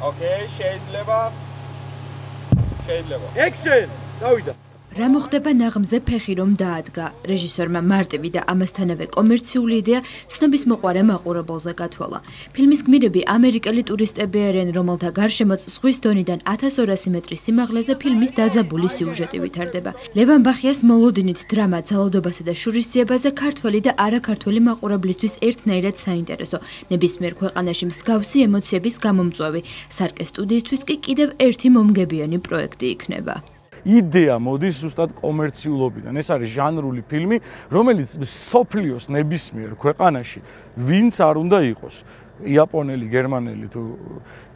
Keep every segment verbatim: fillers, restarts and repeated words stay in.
ოკეი, შეიძლება. შეიძლება. Action! დავიდა. რა მოხდება ნაღმზე ფეხი რომ დაადგა. რეჟისორმა მარტივი და ამასთანავე კომერციული იდეა ცნობის მოყვარე მაყურებელზე გათვალა. ფილმის გმირები ამერიკელი ტურისტები არიან, რომელთა გარშემოც ზღვის დონიდან ათას ორასი მეტრის სიმაღლეზე ფილმის დაძაბული სიუჟეტი ვითარდება. ლევან ბახიას მოლოდინით დრამა ძალადობასა და შურისძიებაზე ქართველი და არაქართველი მაყურებლისთვის ერთნაირად საინტერესო. ნებისმიერ ქვეყანაში მსგავსი ემოციების გამომწვევი. სარკე სტუდიისთვის კი კიდევ ერთი მომგებიანი პროექტი იქნება. იდეა მოდის ზუსტად კომერციულობიდან. ეს არის ჟანრული ფილმი, რომელიც სოფლიოს ნებისმიერ ქვეყანაში ვინც არ უნდა იყოს. იაპონელი, გერმანელი თუ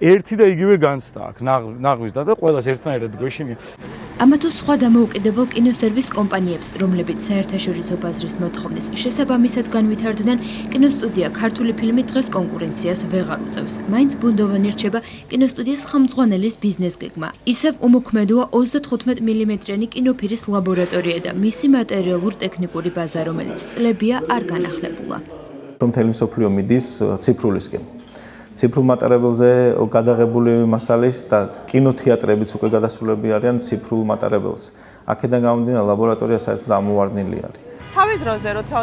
ერთი და იგივე განცდა აქვს ნაღვის და ყველას ერთნაირად გვეშინია. ამა თუ სხვა დამოუკიდებელ კინოსერვის კომპანიებს, რომლებიც საერთაშორისო ბაზრის მოთხოვნის შესაბამისად განვითარდნენ, კინოსტუდია ქართული ფილმი დღეს კონკურენციას ვეღარ უწევს. მაინც ბუნდოვანი რჩება კინოსტუდიის ხელმძღვანელის ბიზნეს გეგმა. ისევ უმოქმედოა ოცდათხუთმეტ მილიმეტრიანი კინოფირის ლაბორატორია და მისი მატერიალურ-ტექნიკური ბაზა, რომელიც წლებია არ განახლებულა. რომ მთელი მსოფლიო მიდის ციფრულისკენ. ციფრულ მატარებელზე გადაღებული მასალის და კინოთეატრებიც უკვე გადასულები არიან ციფრულ მატარებელს. აქედან გამომდინარე ლაბორატორია საერთოდ ამოვარდნილი არის. თავის დროზე როცა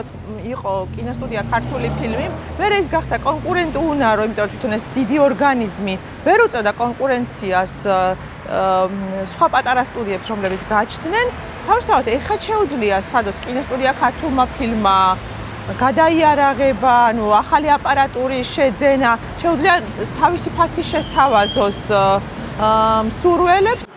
იყო კინოსტუდია ქართული ფილმი, მე ის გახდა კონკურენტი უნარო, იმიტომ რომ თვითონ ეს დიდი ორგანიზმი ვერ უწევდა კონკურენციას სხვა პატარა სტუდიებს, რომლებიც გააჩნდნენ. თავისთავად ეხლა შეუძლია სადოს კინოსტუდია ქართულმა ფილმმა გადაიარაღება, ანუ ახალი აპარატურის შეძენა, შეუძლია თავისი ფასი შესთავაზოს მსურველებს.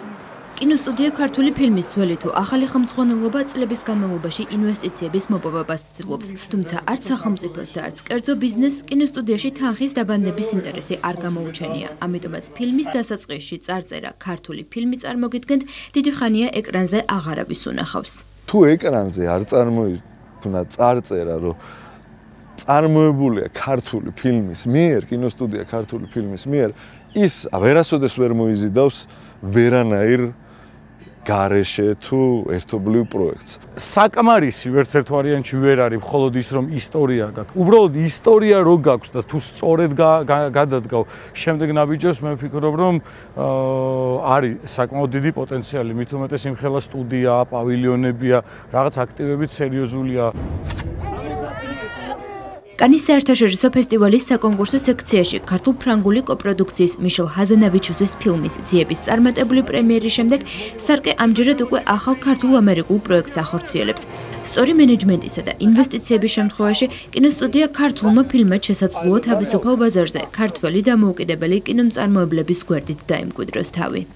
კინოსტუდია ქართული ფილმის ძველი თუ ახალი ხელმძღვანელობა წლების განმავლობაში ინვესტიციების მოპოვებას ცდილობს. თუმცა არც სახელმწიფოს და არც კერძო ბიზნესს კინოსტუდიაში თანხის დაბანების ინტერესი არ გამოუჩენია. ამიტომაც ფილმის დასაწყისში წარწერა ქართული ფილმი წარმოგიდგენთ, დიდი ხანია ეკრანზე აღარავის უნახავს. თუ ეკრანზე არ წარმოიდგენთ თუნდაც წარწერა, რომ წარმოებულია ქართული ფილმის მიერ, კინოსტუდია ქართული ფილმის მიერ, ის ვერასოდეს ვერ მოიზიდავს ვერანაირ გარეშე თუ ერთობლივ პროექტს. საკმარისი ვერც ერთ ვარიანტში ვერ არის, მხოლოდ ის რომ ისტორია გაქვს. უბრალოდ ისტორია რო გაქვს და თუ სწორედ გადადგავ შემდეგ ნაბიჯებს, მე ვფიქრობ, რომ არის საკმაოდ დიდი პოტენციალი, მით უმეტეს იმხელა სტუდიაა, პავილიონებია, რაღაც აქტივებით სერიოზულია. კანის საერთაშორისო ფესტივალის საკონკურსო სექციაში ქართულ-ფრანგული კოპროდუქციის მიშელ ჰაზანავიჩუსის ფილმის ძიების წარმატებული პრემიერის შემდეგ სარკე ამჯერად უკვე ახალ ქართულ-ამერიკულ პროექტს ახორციელებს. სწორი მენეჯმენტისა და ინვესტიციების შემთხვევაში კინოსტუდია ქართულმა ფილმად შესაძლოა თავისუფალ ბაზარზე ქართველი დამოუკიდებელი კინომწარმოებლების გვერდით დაიმკვიდროს თავი.